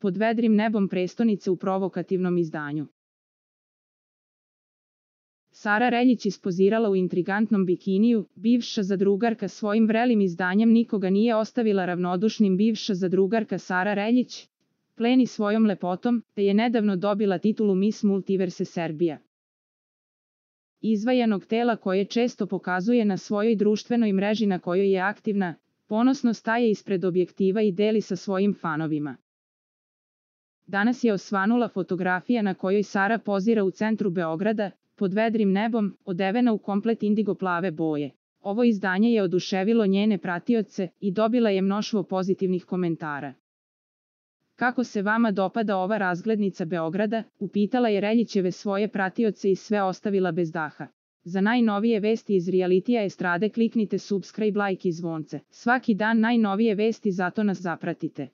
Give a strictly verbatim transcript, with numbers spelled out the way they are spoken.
pod vedrim nebom prestonice u provokativnom izdanju. Sara Reljić ispozirala u intrigantnom bikiniju, bivša zadrugarka svojim vrelim izdanjem nikoga nije ostavila ravnodušnim. Bivša zadrugarka Sara Reljić pleni svojom lepotom, te je nedavno dobila titulu Miss Multiverse Serbia. Izvajanog tela koje često pokazuje na svojoj društvenoj mreži na kojoj je aktivna, ponosno staje ispred objektiva i deli sa svojim fanovima. Danas je osvanula fotografija na kojoj Sara pozira u centru Beograda, pod vedrim nebom, odevena u komplet indigo plave boje. Ovo izdanje je oduševilo njene pratioce i dobila je mnoštvo pozitivnih komentara. Kako se vama dopada ova razglednica Beograda, upitala je Reljićeve svoje pratioce i sve ostavila bez daha. Za najnovije vesti iz realitija estrade kliknite subscribe, like i zvonce. Svaki dan najnovije vesti, zato nas zapratite.